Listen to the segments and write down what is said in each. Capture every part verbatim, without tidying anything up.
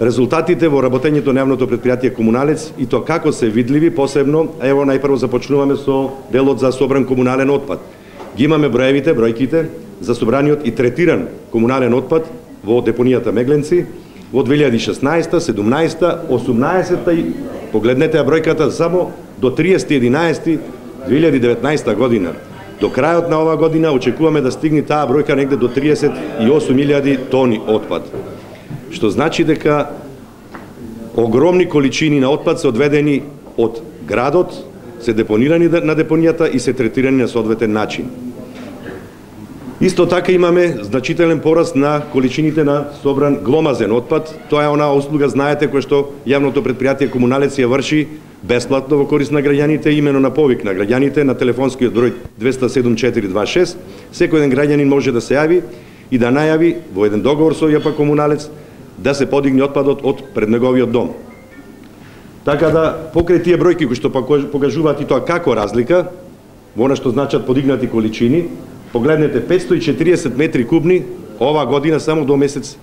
резултатите во работењето на јавното претпријатие Комуналец и тоа како се видливи, посебно, ево најпрво започнуваме со делот за собран комунален отпад. Ги имаме броевите, бројките за собраниот и третиран комунален отпад во депонијата Мегленци во две илјади и шеснаесета, седумнаесета, осумнаесета и погледнете ја бројката само до триесети единаесети две илјади и деветнаесета година. До крајот на оваа година очекуваме да стигне таа бројка негде до триесет и осум илјади тони отпад. Што значи дека огромни количини на отпад се одведени од градот, се депонирани на депонијата и се третирани на соодветен начин. Исто така имаме значителен пораст на количините на собран гломазен отпад. Тоа е онаа услуга, знаете, која што јавното претпријатие Комуналец ја врши бесплатно во корист на граѓаните, имено на повик на граѓаните на телефонскиот број двеста седум четири дваесет и шест. Секој еден граѓанин може да се јави и да најави во еден договор со ЈП Комуналец да се подигне отпадот од пред неговиот дом. Така да, покрај тие бројки кои што покажуваат и тоа како разлика, во она што значат подигнати количини, погледнете петстотини и четириесет метри кубни оваа година само до месец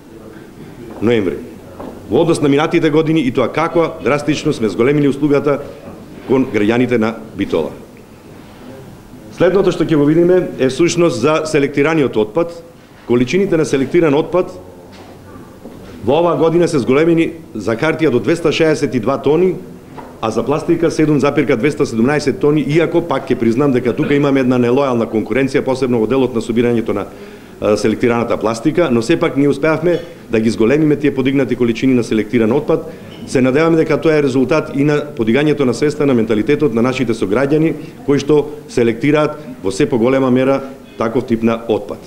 ноември. Во однос на минатите години и тоа како драстично сме зголемили услугата кон граѓаните на Битола. Следното што ќе го видиме е сушност за селектираниот отпад. Количините на селектиран отпад во оваа година се зголемени за хартија до двеста шеесет и два тони, а за пластика седум зарез двеста седумнаесет тони, иако пак ќе признам дека тука имаме една нелојална конкуренција, посебно во делот на собирањето на селектираната пластика, но сепак ние успеавме да ги зголемиме тие подигнати количини на селектиран отпад. Се надеваме дека тоа е резултат и на подигањето на свеста, на менталитетот на нашите сограѓани кои што селектираат во се поголема мера таков тип на отпад.